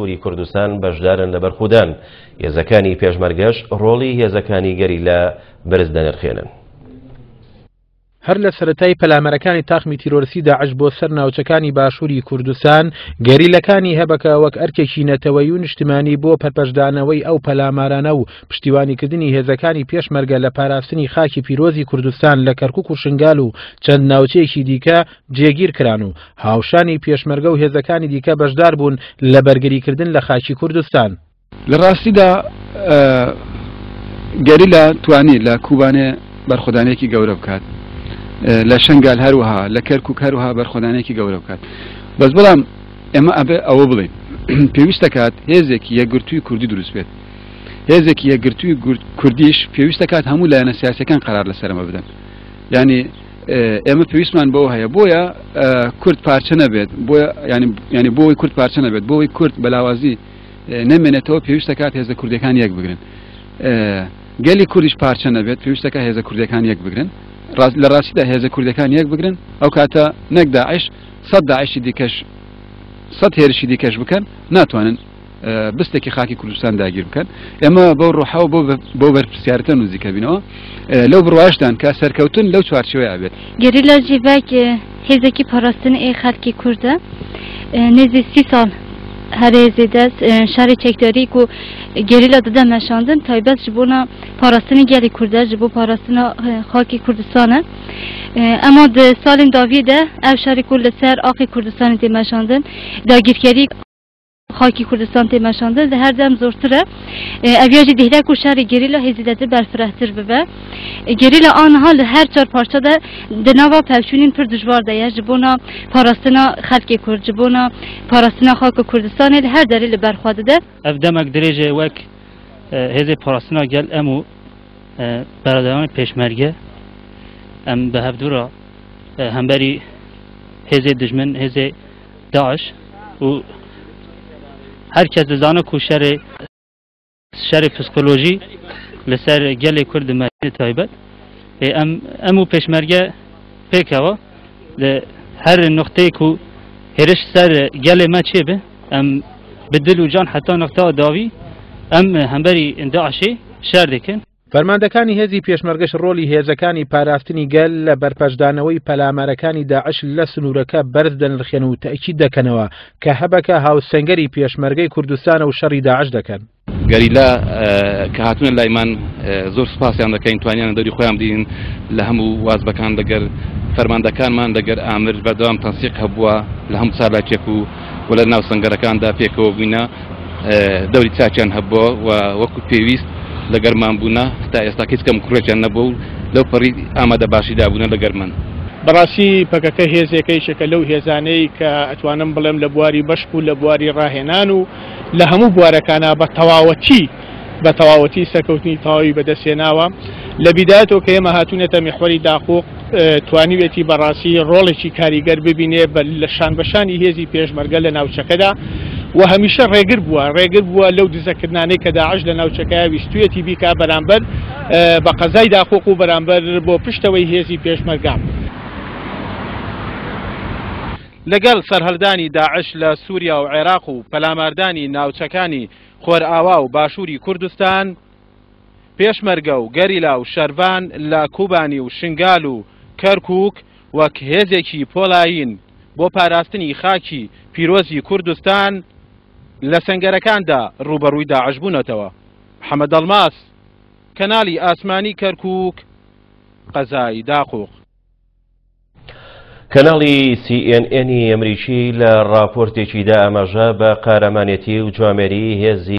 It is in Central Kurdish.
باشووری کوردستان بەشدارن لە بەرخودان، هێزەکانی پێشمەرگەش ڕۆڵی هێزەکانی گەریلا بەرز دەنرخێنن. هەر لە سەرەتای پەلامارەکانی تاقمی تیرۆرستی داعش بۆ سەر ناوچەکانی باشووری کوردستان، گەریلەکانی هەبەکە وەک ئەرکێکی نەتەوەیی و نیشتمانی بۆ پەرپەچدانەوەی ئەو پەلامارانە و پشتیوانیکردنی هێزەکانی پێشمەرگە لە پاراستنی خاکی پیرۆزی کوردستان لە کەرکوک و شنگال و چەند ناوچەیەکی دیکە جێگیر کران و هاوشانی پێشمەرگە و هێزەکانی دیکە بەشدار بوون لە بەرگریکردن لە خاکی کوردستان. لە ڕاستیدا گەریلا توانی لە کوبانێ بەرخۆدانێکی گەورە بکات، لە شنگال هەروەها، لە کەرکوک هەروەها بەرخۆدانێکی گەورە بکات. بەس بەڵام ئێمە ئەبێ ئەوە بڵێین پێویست دەکات هێزێکی یەکگرتووی کوردی دروست بێت. هێزێکی یەکگرتووی کوردیش پێویست دەکات هەموو لایەنە سیاسەکان قەرار لەسەرەمە بدەن. یعنی ئێمە پێویستمان بەوە هەیە بۆیە کورد پارچە نەبێت بۆیە ینی بۆی کورد پارچە نەبێت بۆی کورد بەلاوازی نەمێنێتەوە پێویستە کات هێزە کوردەکان یەک بگرن گەلی کوردیش پارچە نەبێت پێویستەکە هێزە کوردەکان یەک بگرن لە ڕاستیدا هێزە کوردەکان یەک بگرن ئەو کاتە نەک داعش سەد داعشی دیکەش سەد هێرشی دیکەش بکەن ناتوانن بستێکی خاکی کوردستان داگیر بکەن ئێمە بەو ڕۆحەوە بۆ بۆ بەرپرسیارەتە نزیکە بینەوە لەو بڕواشدان کە سەرکەوتن لەو چوارچێوەیە بێت. گەریلا جیڤاک هێزێکی پاراستن ئێ خەلکی کوردە نێزی سی ساڵ هەرێ زێدە شەڕی چەکداری کو گەریلا ددە مەشاندن تایبەت ji bona پاراستنی گەلی کوردە ji bo پاراستنا خاکی کوردستانە ئەما di salên daviyê de ev şerê ku li ser axê Kurdistanê tê meşandin dagirkerî خاکی کوردستان tê meşandin di her dem zortir e. Ev ya jî dihre ku şerê gerîla hê zêdetir berfirehtir bibe. Gerîla aniha li her çar parça de di nava pevçûnên pir dijwar de ye ji bona parastina xelkê Kurd, ji bona parastina xaka Kurdistanê li her derê li ber xwe dide. Ev demek dirêj e wek hêzê parastina gel em û beraderanê pêşmerge em bi hevdu re hemberî hêzê dijmin, hêzê DAIŞ û her kes dizane ku şerê şerê psikolojî li ser gelê Kurd dimeşîne taybet. Ê em em û pêşmerge pêkeva li her nuqteyê ku hêriş ser gelê me çêbe em bi dil û can heta nuqteya dawî em hemberî DAIŞê şer dikin. فەرماندەکانی هێزی پێشمەرگەش ڕۆڵی هێزەکانی پاراستنی گەل لە بەرپەرچدانەوەی پەلامارەکانی داعش لە سنوورەکە بەرز دەنرخێن و تەئکید دەکەنەوە کە هەبەکە هاوسەنگەری پێشمەرگەی کوردستانە و شەڕی داعش دەکەن. گەریلا کە هاتوونە لایمان زۆر سوپاسیان دەکەین، توانیان دەوری خۆیان بدین لە هەموو وازبەکان لەگەر فەرماندەکانمان لەگەر ئامر بەردەوام تەنسیق هەبووە لە هەموو چالاکیەک و و لە ناو سەنگەرەکاندا پێکەوە بووینە دەوری چاکیان هەبووە و وەکو پێویست لەگەرمان بوونە تا ئێستا هیچ کەم کوڕێکیان نەبوو و لەو پەڕی ئامادە باشیدا بوونە لەگەرمان. بەڕاستی پەکەکە هێزێکە یەکێکە لەو هێزانەی کە ئەتوانم بڵێم لە بواری مەشق و لە بواری ڕاهێنان و لە هەموو بوارەکانا بە تەواوەتی بە تەواوەتی سەرکەوتنی تەواوی بەدەستهێناوە. لە بیدایەتەوە کە ئێمە هاتوونەتە میحوەری داقوق توانیوێتی بەڕاستی ڕۆڵێکی کاریگەر ببینێ بە لە شانبەشانی هێزی پێشمەرگە لە ناوچەکەدا و هەمیشە ڕێگر بووە ڕێگر بووە لەو دزەکردنانەی کە داعش لە ناوچەکە ویستویەتی بیکا بەرامبەر بە قەزای داقوق و بەرامبەر بۆ پشتەوەی هێزی پێشمەرگە. لەگەڵ سەرهەڵدانی داعش لە سوریا و عێراق و پەلاماردانی ناوچەکانی خۆرئاوا و باشووری کوردستان، پێشمەرگە و گەریلا و شەرڤان لە کوبانی و شنگال و کەرکووک وەک هێزێکی پۆڵایین بۆ پاراستنی خاکی پیرۆزی کوردستان لە سەنگەرەکاندا ڕووبەڕووی داعش بوونەتەوە. محەمەد ئەڵماس، کەناڵی ئاسمانی کەرکووک، قەزای داقوق. کەناڵی سی ئێن ئێنی ئەمریکی لە ڕاپۆرتێکیدا ئاماژە بە قارەمانێتی و جوامێری هێزی.